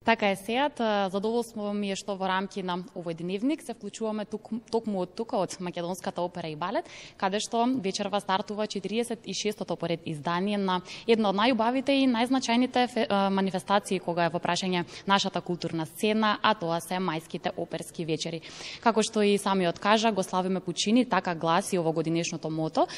Така е сеат, задоволство ми е што во рамки на овој дневник се вклучуваме токму од тука од Македонската опера и балет, каде што вечерва стартува 46-тото поред издание на една од најубавите и најзначајните манифестации кога е во прашање нашата културна сцена, а тоа се мајските оперски вечери. Како што и самиот кажа, го славиме Пучини, така гласи овогодинешното мото,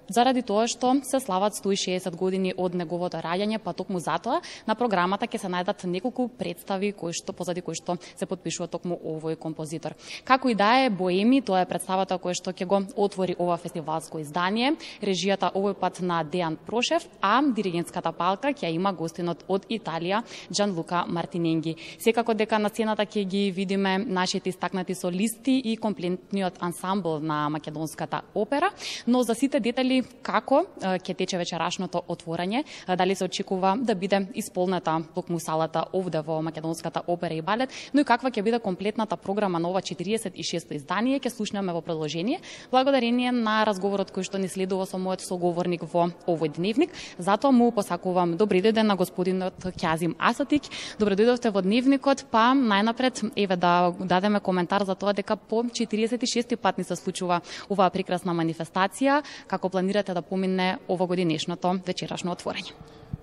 заради тоа што се слават 160 години од неговото раѓање, па токму затоа на програмата ќе се најдат неколку представи позади кои што се потпишува токму овој композитор. Како и да е, Боеми, тоа е представата која што ќе го отвори ова фестивалско издание, режијата овој пат на Дејан Прошев, а диригентската палка ќе има гостинот од Италија Джанлука Мартиненги. Секако дека на сцената ќе ги видиме нашите истакнати солисти и комплетниот ансамбл на Македонската опера, но за сите детали како ќе тече вечерашното отворање, дали се очекува да биде исполнета токму салата овде во Македонската опера и балет, но и каква ќе биде комплетната програма на ова 46-то издание, ќе слушнеме во продолжение, благодарение на разговорот кој што ни следува со мојот соговорник во овој дневник. Затоа му посакувам добри дојде на господинот Ќазим Асатик. Добре дојдовте во дневникот, па најнапред еве да дадеме коментар за тоа дека по 46-ти пат ни се случува оваа прекрасна манифестација, како планирате да помине овогодинешното вечерашно отворање?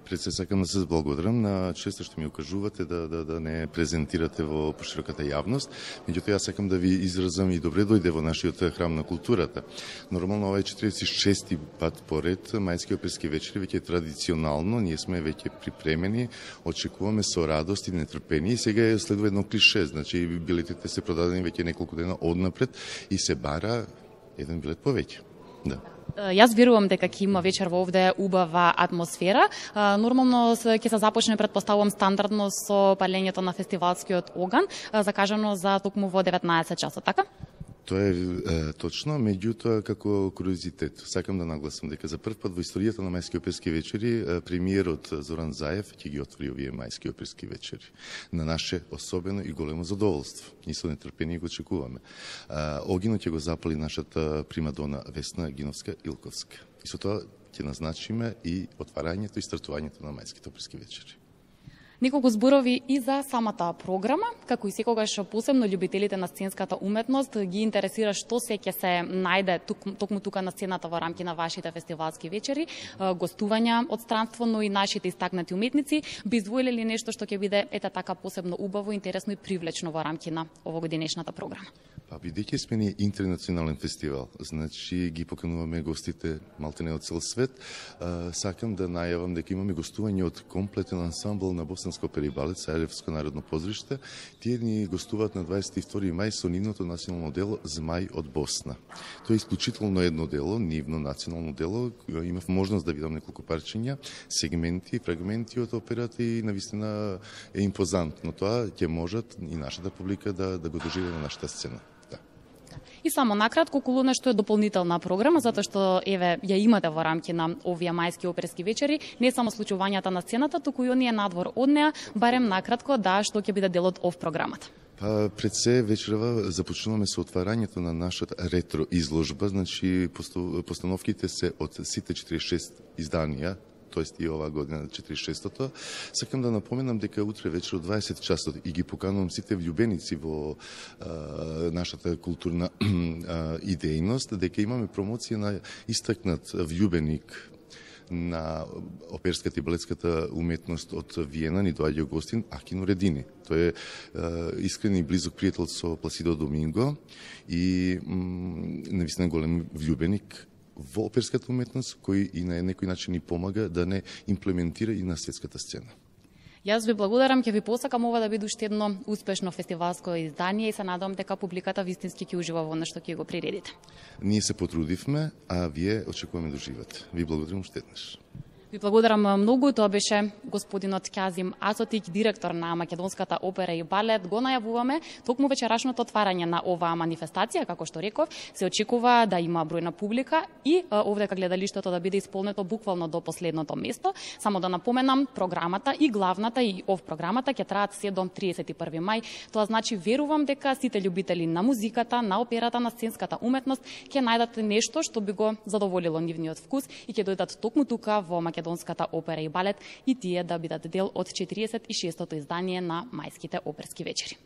Пред се сакам да се зблагодарам на често што ми укажувате да не презентирате во пошироката јавност. Меѓутоа, јас сакам да ви изразам и добре дојде во нашиот храм на културата. Нормално, ова е 46-ти пат поред мајски оперски вечери, веќе традиционално, ние сме веќе припремени, очекуваме со радост и нетрпение. И сега следува едно клише, значи билетите се продадени веќе неколку дена однапред и се бара еден билет повеќе. Да. Јас верувам дека ќе има вечер во овде убава атмосфера. Нормално ќе се започне, предпоставувам, стандардно со палењето на фестивалскиот оган, закажано за токму во 19 часот, така? Тоа е точно, меѓутоа како куриозитет. Сакам да нагласам дека за прв пат во историјата на мајски оперски вечери премиерот Зоран Заев ќе ги отвори овие мајски оперски вечери. На наше особено и големо задоволство. Ние со нетрпение го очекуваме. Огинот ќе го запали нашата примадона Весна Гиновска-Илковска. И со тоа ќе назначиме и отварањето и стартувањето на мајските оперски вечери. Неколку зборови и за самата програма, како и секогаш посебно љубителите на сценската уметност ги интересира што се ќе се најде токму тука на сцената во рамки на вашите фестивалски вечери, гостувања од странство, но и нашите истакнати уметници би издвоиле ли нешто што ќе биде така посебно убаво, интересно и привлечно во рамки на овогодинешната програма? Па бидејќи сме ние интернационален фестивал, значи ги покануваме гостите малтене од цел свет, сакам да најавам дека имаме гостување од комплетен ансамбл на Босанска опера и балет, Сарајевско народно позориште. Тие ни гостуваат на 22 мај со нивното национално дело Змај од Босна. Тоа е исклучително едно дело, нивно национално дело. Имав можност да видам неколку парчиња, сегменти, фрагменти од операта и навистина е импозантно. Тоа ќе можат и нашата публика да го доживее на нашата сцена. И само накратко, околу нешто е дополнителна програма, затоа што еве ја имате во рамки на овие мајски оперски вечери, не само случувањата на сцената, туку и оние надвор од неа, барем накратко што ќе биде дел од програмата. Па пред се вечерва започнуваме со отварањето на нашата ретро изложба, значи постановките се од сите 46 изданија, тоест и оваа година 46-тото. Сакам да напоменам дека утре вечер од 20 часот и ги поканувам сите влюбеници во нашата културна идејност, дека имаме промоција на истакнат влюбеник на оперската и балетската уметност од Виена, ни доаѓа гостин Акино Редини. Тој е искрен и близок пријател со Пласидо Доминго и навистина голем влюбеник во оперската уметност, кој и на некој начин ни помага да не имплементира и на светската сцена. Јас ви благодарам, ќе ви посакам ова да биде уште едно успешно фестивалско издание и се надевам дека публиката вистински ќе ужива во нешто ќе го приредите. Ние се потрудивме, а вие очекуваме да уживате. Ви благодарам уште еднаш. Ви благодарам многу, тоа беше господинот Ќазим Асотик, директор на Македонската опера и балет. Го најавуваме токму вечерашното отварање на оваа манифестација, како што реков, се очекува да има бројна публика и овде кај гледалиштето да биде исполнето буквално до последното место. Само да напоменам, програмата и главната и програмата ќе траат се до 31 мај. Тоа значи верувам дека сите љубители на музиката, на операта, на сценската уметност ќе најдат нешто што би го задоволило нивниот вкус и ќе дојдат токму тука во Македонската македонската опера и балет и тие да бидат дел од 46-тото издание на мајските оперски вечери.